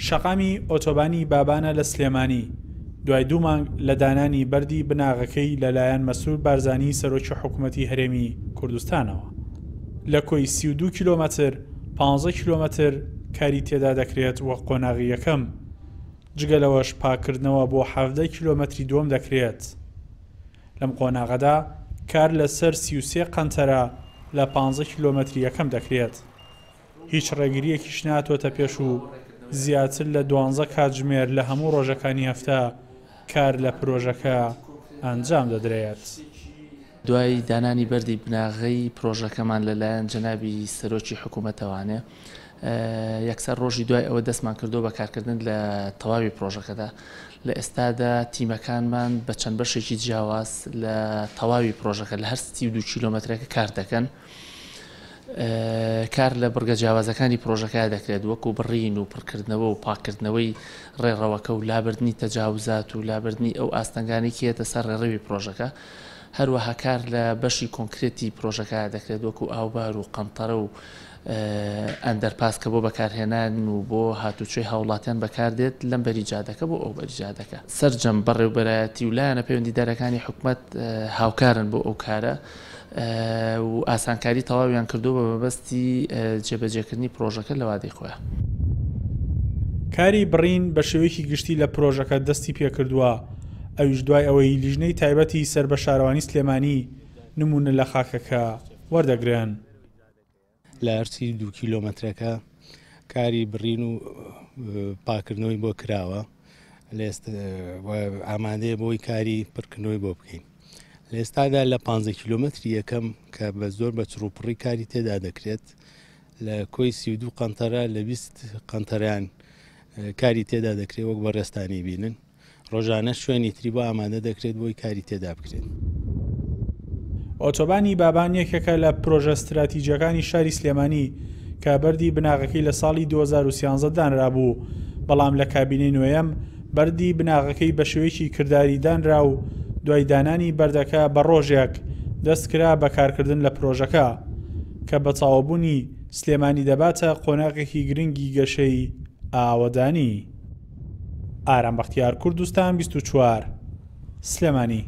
شەقامی ئۆتۆبانی بابانە لە سلێمانی، دوای دوو مانگ لە دانانی بەردی بناغەکەی لەلایەن مەسرور بارزانی سەرۆکی حکومەتی هەرێمی کوردستانەوە. لە کۆی 32 کیلۆمەتر، 15 کیلۆمەتر کاری تێدا دەکرێت وەک قۆناغی یەکەم، جگە لەوەش پاککردنەوە بۆ 17 کیلۆمەتری دووەم دەکرێت. لەم قۆناغەدا کار لەسەر 33 قەنتەرە لە 15 کیلۆمەتری یەکەم دەکرێت. هیچ ڕێگرییەکیش نەهاتووەتە پێش و زیاتر لە دوانزە کاتژمێر لە هەموو ڕۆژەکانی هەفتە کار لە پرۆژەکە ئەنجام دەدرێت. دوای دانانی بەردی بناغەی پرۆژەکەمان لەلایەن جەنابی سەرۆکی حکوومەتەوانێ، یەکسەر ڕۆژی دوای ئەوە دەستمان کردووە بە کارکردن لە تەواوی پرۆژەکەدا. لە ئێستادا تیمەکانمان بە چەند بەشێکی جیاواز لە تەواوی پرۆژەکە لە هەر 32 کیلۆمەترەکە کار دەکەن. کار لە بڕگە جیاوازەکانی پرۆژەکە دەکرێت وەکو بڕین و پڕکردنەوە و پاککردنەوەی ڕێڕەوەکە و لابردنی تەجاوزات و لابردنی ئەو ئاستەنگانەی کە یەتە سەر ڕێڕەوی پرۆژەکە. هەروەها کار لە بەشی کۆنکرێتی پرۆژەکە دەکرێت وەکو ئاوبار و قەنتەرە و ئەندەرپاس کە بۆ بەکارهێنان و بۆ هاتوچۆی هاوڵاتیان بەکاردێت لەم بەری جادەکە بۆ ئەو بەری جادەکە. سەرجەم بەڕێوبەرایەتی و لایەنە پەیوەندیدارەکانی حکومەت هاوکارن بۆ ئەو کارە و ئاسانکاری تەواویان کردووە بە مەبەستی جێبەجێکردنی پرۆژەکە لە وادەی خۆیان. کاری بڕین بە شێوەیەکی گشتی لە پرۆژەکە دەستی پێکردووە، ئەویش دوای ئەوەی لیژنەی تایبەتی سەر بە شارەوانی سلێمانی نموونە لە خاکەکە وەردەگرن. لە هەر 32 کیلۆمەترەکە کاری بڕین و پاکردنەوەی بۆ کراوە ئامادەیە بۆی کاری پڕکردنەوەی بۆ بکەین. لە ئێستادا لە 15 کیلۆمەتری یەکەم کە بە زۆر بە چڕوپڕی کاری تێدا دەکرێت لە کۆی 32 قەنتەرە لە 20 قەنتەران کاری تێدا دەکرێت وەک بەڕێزتانی بینن. ڕۆژانە شوێنی تری بۆ ئامادە دەکرێت بۆی کاری تێدا بکرێت. ئۆتۆبانی بابان یەکێکە لە پرۆژە ستراتیجیەکانی شاری سلێمانی کە بەردی بناغەکەی لە ساڵی 2013 دانرابوو، بەڵام لە کابینەی نۆیەم بەردی بناغەکەی بە شێوەیەکی کرداری دانرا و دوای دانانی بەردەکە بە ڕۆژێک دەست کرا بە کارکردن لە پرۆژەکە کە بە تەواوبوونی سلێمانی دەباتە قۆناغێکی گرنگی گەشەی ئاوەدانی. ئارام بەختیار کوردستان 24 سلێمانی.